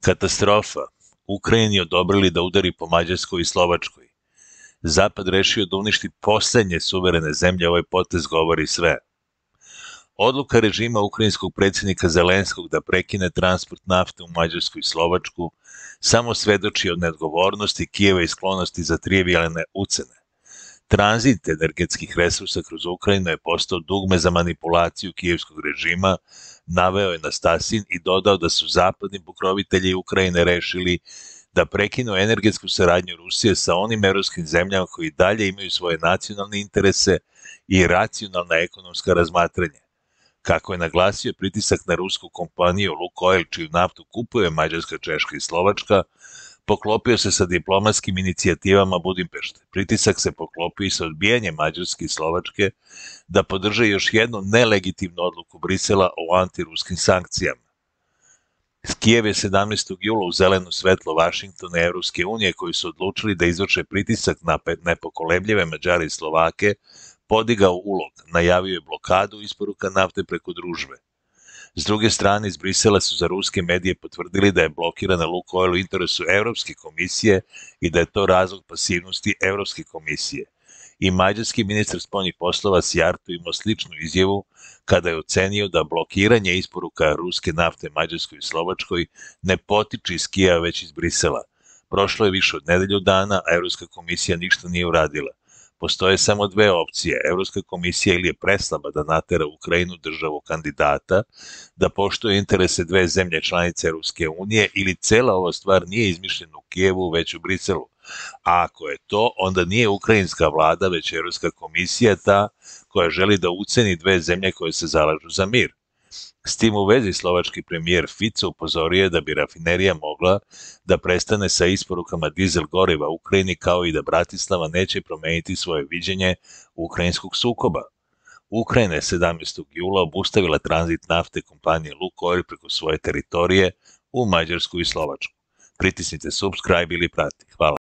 Katastrofa. Ukrajini odobrili da udari po Mađarskoj i Slovačkoj. Zapad rešio da uništi poslednje suverene zemlje, ovaj potez govori sve. Odluka režima ukrajinskog predsjednika Zelenskog da prekine transport nafte u Mađarsku i Slovačku samo svedoči o neodgovornosti Kijeva i sklonosti za trivijalne ucene. Tranzit energetskih resursa kroz Ukrajinu je postao dugme za manipulaciju kijevskog režima, naveo je Nastasin i dodao da su zapadni pokrovitelji Ukrajine rešili da prekinu energetsku saradnju Rusije sa onim evropskim zemljama koji dalje imaju svoje nacionalne interese i racionalna ekonomska razmatranja. Kako je naglasio, pritisak na rusku kompaniju Lukoil, čiju naftu kupuje Mađarska, Češka i Slovačka, poklopio se sa diplomatskim inicijativama Budimpešte. Pritisak se poklopio i sa odbijanjem Mađarske i Slovačke da podrže još jednu nelegitimnu odluku Brisela o antiruskim sankcijama. Kijev je 17. jula u zeleno svetlo Vašingtona i Evropske unije koji su odlučili da izvrše pritisak na nepokolebljive Mađare i Slovake podigao ulog, najavio je blokadu isporuka nafte preko družbe. S druge strane, iz Brisela su za ruske medije potvrdili da je blokirana Lukoil u interesu Evropske komisije i da je to razlog pasivnosti Evropske komisije. I mađarski ministar spoljnih poslova Sijarto imao sličnu izjavu kada je ocenio da blokiranje isporuka ruske nafte Mađarskoj i Slovačkoj ne potiče iz Kijeva već iz Brisela. Prošlo je više od nedelju dana, a Evropska komisija ništa nije uradila. Postoje samo dve opcije. Evropska komisija ili je preslaba da natera Ukrajinu, državu kandidata, da poštuje interese dve zemlje članice Evropske unije, ili cela ova stvar nije izmišljena u Kijevu, već u Briselu. A ako je to, onda nije ukrajinska vlada, već Evropska komisija ta koja želi da uceni dve zemlje koje se zalažu za mir. S tim u vezi slovački premijer Fico upozorio je da bi rafinerija mogla da prestane sa isporukama dizel goriva u Ukrajini, kao i da Bratislava neće promeniti svoje viđenje ukrajinskog sukoba. Ukrajina je 17. jula obustavila tranzit nafte kompanije Lukoil preko svoje teritorije u Mađarsku i Slovačku. Pritisnite subscribe ili prati. Hvala.